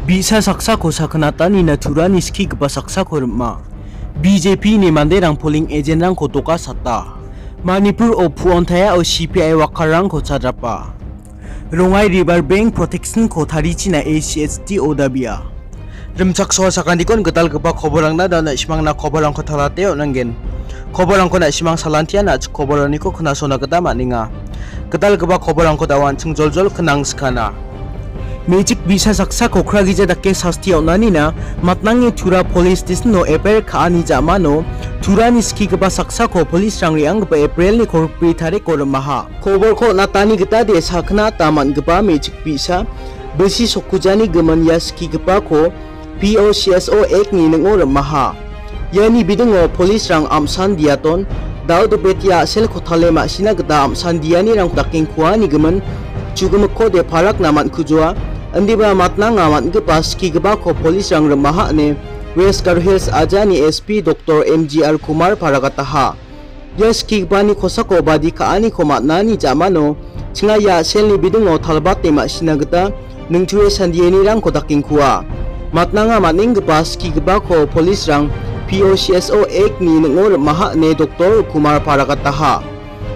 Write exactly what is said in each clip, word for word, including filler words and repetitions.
Bi·sa saksako sakgnatanina turani skigipa saksako rim·a. B J P-ni manderang polling agent-rangko dokasata. Manipur-o puon tayao C P I wakarangko chadrapa. Rongai River Bank Protection-ko tarichina A C H T-o dabia. Rimchaksoa sakantikon gitalgipa koborangna da na·simangna koborangko talate on·angen. Koborangko na·simang salantian a·chik koboraniko knasona gita man·enga. Gitalgipa koborangko da·o an·ching joljol knang skana. Mechik bi·sa saksako kragija dake sasti on·anina matnange Tura Police Station-o F I R ka·ani ja·mano Turani skigipa saksako police-rang re·anggipa April-ni kolgri tariko rim·aha. Koborko natani gita de sakna ta man·gipa mechik bi·sa bilsi sokujani gimin ia skigipako P O C S O Act-ni ning·o rim·aha. Iani bidingo police-rang am·san diaton, dal·dobetia a·selko tale ma·sina gita am·san dianirangko dakengkuani gimin chugimikode parakna man·kujoa, indiba matnanga man·gipa skigipako police-rang rim·aha ine West Garo Hills ajani S P Doktor M G R Kumar paragataha. Ia skigipani kosako badi ka·aniko man·ani ja·mano chinga ia a·selni bidingo talbate ma·sina gita ningtue sandienirangko dakengkua. Matnanga man·enggipa skigipako police-rang P O C S O Act-ni ning·o rim·aha ine Doktor Kumar paragataha.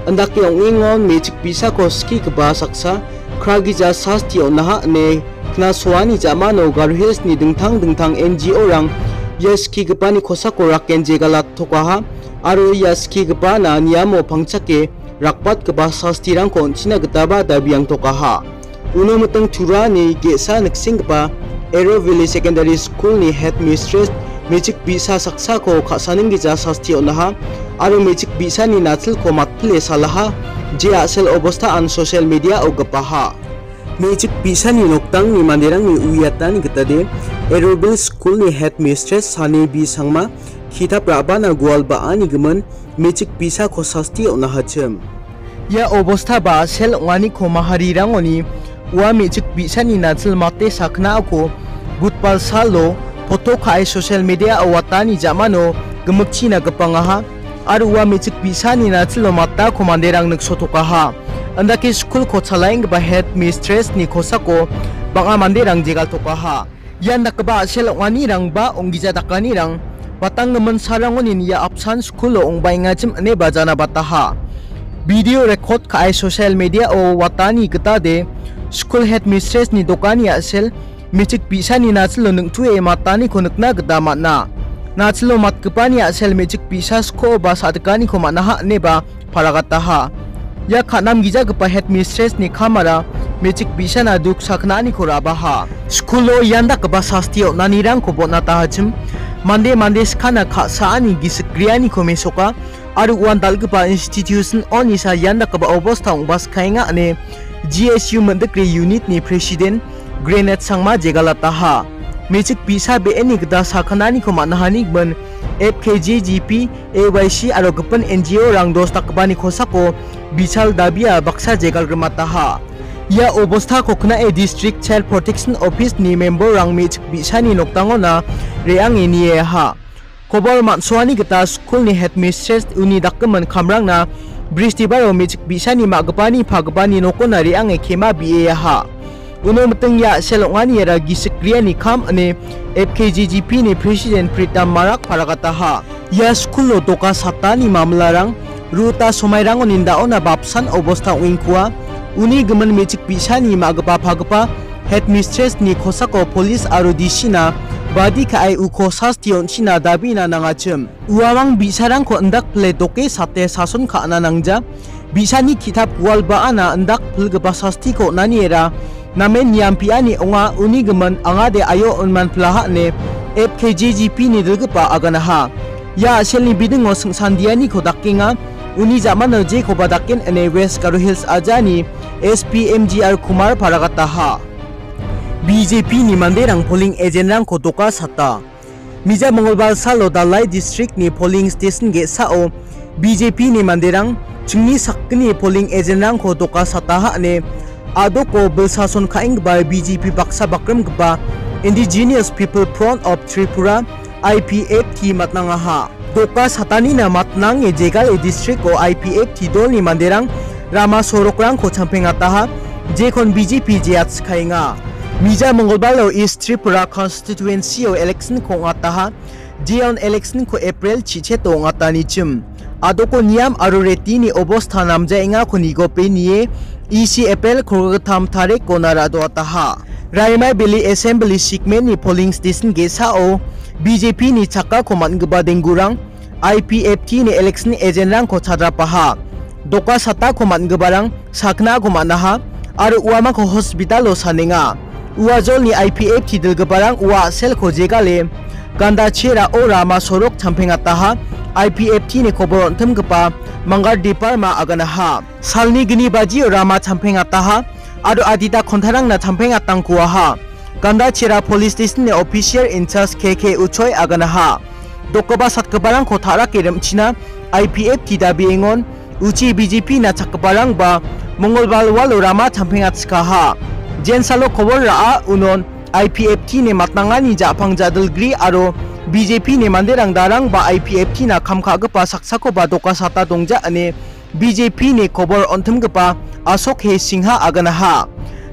Indake ong·engon mechik bi·sako skigipa saksa kragija sasti on·aha ine knasoani ja·mano Garo Hills-ni dingtang dingtang N G O-rang ia skigipani kosako raken jegalatokaha. Aro ia skigipana niamo pangchake rakbatgipa sastirangko on·china gitaba dabiangtokaha. Uno miting Turani ge·sa niksenggipa Arrow Valley Secondary School-ni headmistress mechik bi·sa saksako ka·saninggija sasti on·aha aro mechik bi·sani nachilko matpile salaha, je a·sel obostaan social media-o gipaha. Mechik bi·sani noktangni manderangni uiatani gitade Arrowville School-ni headmistress Sani B Sangma ki·tap ra·bana gual ba·ani gimin mechik bi·sako sasti on·ahachim. Ia obosta ba a·sel ong·aniko maharirangoni ua mechik bi·sani nachil mate saknaako Budbal salo poto ka·e social media-o watani ja·mano gimikchina gipangaha. Aro ua mechik bi·sani nachilo matako manderang niksotokaha. Indake skulko chalaenggipa headmistress-ni kosako bang·a manderang jegaltokaha. Ian dakgipa a·sel ong·anirang ba ong·gija dakanirang batanggimin sarangonin ia apsan skulo ong·baengachim ine ba jana bataha. Video record ka·e social media-o watani gitade skul headmistress-ni dokani a·sel mechik bi·sani nachilo ning·tue mataniko nikna gita man·a. Nachilo matgipani a·sel mechik bi·sa sko ba sa·dikaniko man·aha ineba paragataha. Ia ka·namgijagipa headmistress-ni kamara mechik bi·sana duk sakgnaniko ra·baha. Skulo ian dakgipa sasti on·anirangko bon·atahachim, mande mande skana ka·saani gisik grianiko mesoka, aro uan dal·gipa institution-onisa ian dakgipa obosta ong·baskaenga ine G S U Mindikrei unit-ni president Granite Sangma jegalataha. Mechik bi·sa be·eni gita sakgnaniko man·ahani gimin F K J G P, A Y C aro gipin N G O-rang dos dakgipani kosako bichal dabia baksa jegalgrimataha. Ia obostako kna·e District Child Protection Office-ni member-rang mechik bi·sani noktangona re·ange nieaha. Kobor man·soani gita skulni headmistress uni dakgimin kamrangna Bristibaro mechik bi·sani ma·gipani pagipani nokona re·ange kema bi·eaha. Uno miting ia a·sel ong·aniara gisik griani kam ine F K J G P-ni president Pritam Marak paragataha. Ia skulo doka satani mamlarang ruta somairango nindaona bapsan obosta ong·engkua. Uni gimin mechik bi·sani ma·gipa pagipa headmistress-ni kosako polis aro D C-na badi ka·e uko sasti on·china dabina nangachim. Uamang bi·sarangko indakpile doke sate sason ka·na nangja. Bi·sani ki·tap gual ba·ana indakpilgipa sastiko on·aniera namen niampiani ong·a, uni gimin angade aio on·manpilaha ine F K J G P-ni dilgipa aganaha. Ia a·selni bidingo singsandianiko dakenga, uni ja·mano jekoba daken ine West Garo Hills ajani S P M G R Kumar paragataha. B J P-ni manderang polling agent-rangko doka sata. Mija Mongolbar salo Dalai district-ni polling station ge·sao B J P-ni manderang chingni sakgni polling agent-rangko doka sataha ine a·doko bilsason ka·enggipa B J P baksa bakrimgipa Indigenous People Front of Tripura, I P F T, matnangaha. Doka satanina matnange jegale district-o I P F T dolni manderang rama sorokrangko champengataha, jekon B J P jeatskaenga. Mija Mongolbalo East Tripura constituency-o election-ko ong·ataha. Jeon election-ko April chicheto ong·atanichim. Adoko niam aro retini obostha namjaengako nigopenie E C April kolgittam tarikko naradoataha. Raimai Valley Assembly Segment-ni polling station ge·sao B J P-ni chakkako man·gipa denggurang I P F T-ni election agent-rangko chadrapaha. Doka satako man·giparang saknako man·aha aro uamangko hospital-o sanenga. Ua jolni I P F T dilgiparang ua a·selko jegale ganda cherao rama sorok champengataha. I P F T-ni kobor on·timgipa Mangar Deparma aganaha. Salni gni bajio rama champengataha aro adita kontarangna champengatangkuaha. Ganda Chera Police Station-ni officer in charge K K Uchoi aganaha. Dokgipa satgiparangko ta·rake rim·china I P F T dabiengon uchi B J P-na chakgiparangba Mongolbar walo rama champengatchikaha. Jensalo kobor ra·a unon I P F T-ni matnangani ja·pang ja·dilgri aro B J P-ni manderang darangba I P F T-na kam ka·gipa saksakoba doka sata dongja ine B J P-ni kobor on·timgipa Ashok He Singha aganaha.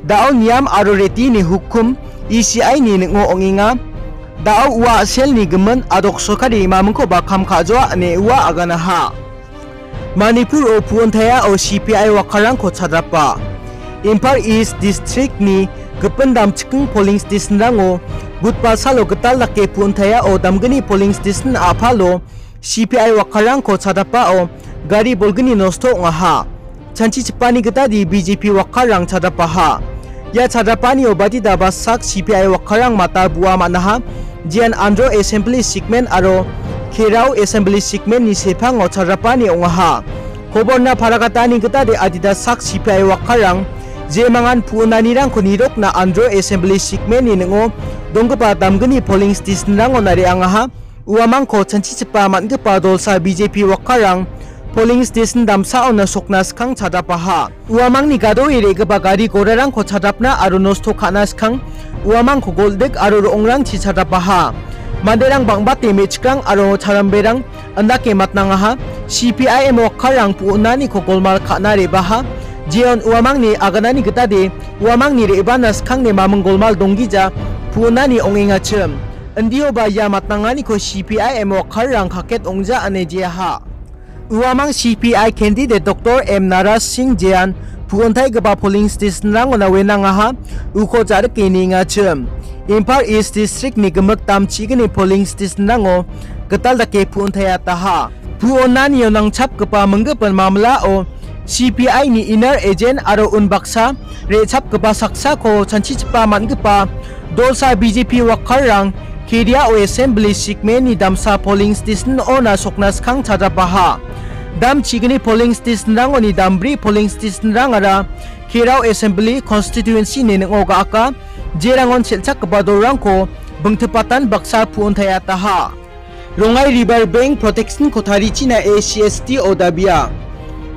Da·o niam aro retini hukum E C I-ni ning·o ong·enga. Da·o ua a·selni gimin adok sorkari mamingkoba kam ka·joa ine ua aganaha. Manipur-o pu·ontaiao C P I wakarangko chadrapa. Imphal East District-ni gipin damchiking polling station-rango Budbar salo gital dake pu·ontaiao damgni polling station a·palo C P I wakarangko chadapao gari bolgni nosto ong·aha. Chanchichipani gitade B J P wakarang chadapaha. Ia chadapanio badita basak C P I wakarang mata bua man·aha. Jeon Andro Assembly Segment aro Kerao Assembly Segment-ni sepango chadapani ong·aha. Koborna paragatani gitade adita sak C P I wakarang jemangan pu·onanirangko nirokna Andro Assembly Segment-ni ning·o donggipa damgni polling station-rangon re·angaha. Uamangko chanchichipa man·gipa dolsa B J P wakarang polling station damsaona sokna skang chadapaha. Uamangni gadoe re·gipa gari gorarangko chadapna aro nosto ka·na skang uamangko goldik aro ro·ongrangchi chadapaha. Manderang bang·bate me·chikrang aro charamberang indake matnangaha. C P I M wakarang pu·onaniko golmal ka·na re·baha. Jeon uamangni aganani gitade uamangni re·bana skangni maming golmal donggija pu·onani ong·engachim. Indioba ia matnanganiko C P I M wakarang kaket ong·ja ine jeaha. Uamang C P I candidate Doctor M Naresh Singh Jeon pu·ontaigipa polling station-rangona wenangaha, uko ja·rike niengachim. Imphal East District-ni gimik damchigni polling station-rango gital dake pu·ontaiataha. Pu·onanio nangchapgipa minggipin mamlao C P I-ni inner agent aro unbaksa re·chapgipa saksako chanchichipa man·gipa dolsa B J P wakarang Keriao Assembly Segment-ni damsa polling station-ona sokna skang chadapaha. Damchigni polling station-rangoni dambri polling station-rangara Keriao Assembly Constituency-ni ning·o ga·aka, jerangon sel·chakgipa dolrangko bingtipatan baksa pu·ontaiataha. Rongai River Bank Protection-ko tarichina A C S T-o dabia.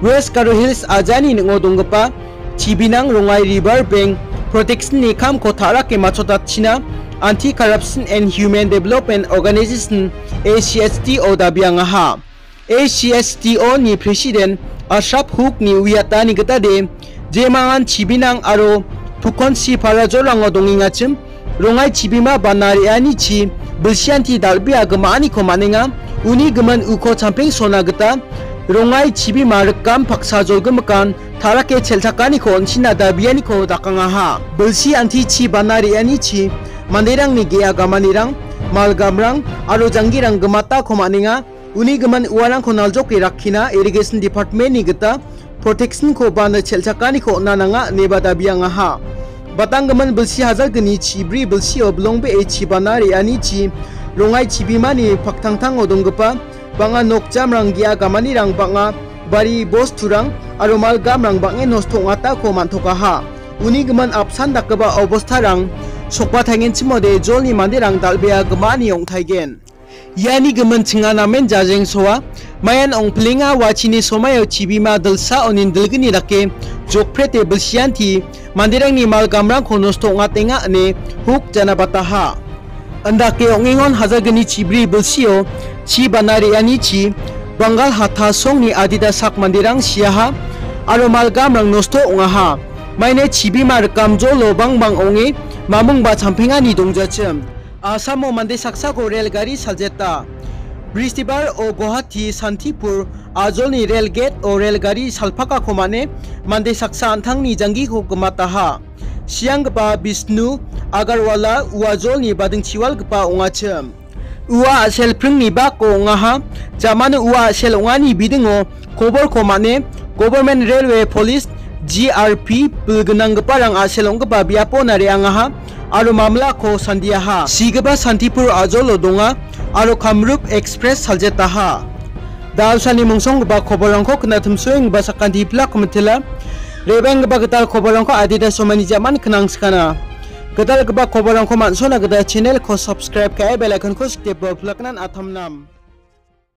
West Garo Hills ajani ning·o donggipa chibinang Rongai River Bank Protection-ni kamko ta·rake matchotatchina Anti-Corruption and Human Development Organization, A C S T-o dabiangaha. A C S T-o-ni President Ashraf Huk-ni uiatani gitade, jemangan chibinang aro Pukonsi Parajorango dongengachim, Rongai chibima bana re·anichi bilsianti dal·bea gima·aniko man·enga. Uni gimin uko champengsona gita Rongai chibima rikam paksa jolgimikan ta·rake chelchakaniko on·china dabianiko dakangaha. Bilsi antichi bana re·anichi manderangni ge·a gamanirang, malgamrang aro janggirang gimatako man·enga. Uni gimin uarangko naljoke rakkina Irrigation Department-ni gita protection-ko bana chelchakaniko on·a nanga ineba dabiangaha. Batanggimin bilsi hajalgni chibri bilsio bilongbee chibana re·anichi Rongai chibimani paktangtango donggipa bang·a nokjamrang, ge·a gamanirang, bang·a bari bosturang aro malgamrang bang·en nosto ong·atako man·tokaha. Uni gimin apsan dakgipa obostarang sokba taigenchimode jolni manderang dal·bea gima·ani ong·taigen. Iani gimin chinga namen jajengsoa, mayan ong·pilenga, uachini somaio chibima dilsa onin dilgni dake jokprete bilsianti manderangni malgamrangko nosto ong·atenga ine Huk janabataha. Indake ong·engon hajalgni chibri bilsio chi bana re·anichi Bangal hattasongni adita sak manderang siaha aro malgamrang nosto ong·aha. Maine chibima rikamjolo bangbang ong·e Mamung ba champengani dongjachim. Asamo mande saksako rel gari saljeta. Bristibar o Guwahati Santipur ajolni rel gate o rel gari salpakako mane mande saksa an·tangni janggiko gimataha. Sianggipa Bishnu Agarwala uajolni badingchiwalgipa ongachim. Ua a·sel pringni bako ong·aha. Jamano ua a·sel ong·ani bidingo koborko mane Government Railway Police, G R P, bilgnanggiparang a·sel ong·gipa biapona re·angaha aro mamlako sandiaha. Sigipa Santipur ajolo donga aro Kamrup Express saljetaha. Dalsani mongsonggipa koborrangko knatimsoenggipa sakanti pilak mitela. Rebenggipa gital koborrangko adita somani jaman knang sikana. Gitalgipa koborrangko man·sona gita channel-ko subscribe ka·e bell icon-ko sikdepo pilaknan atamnam.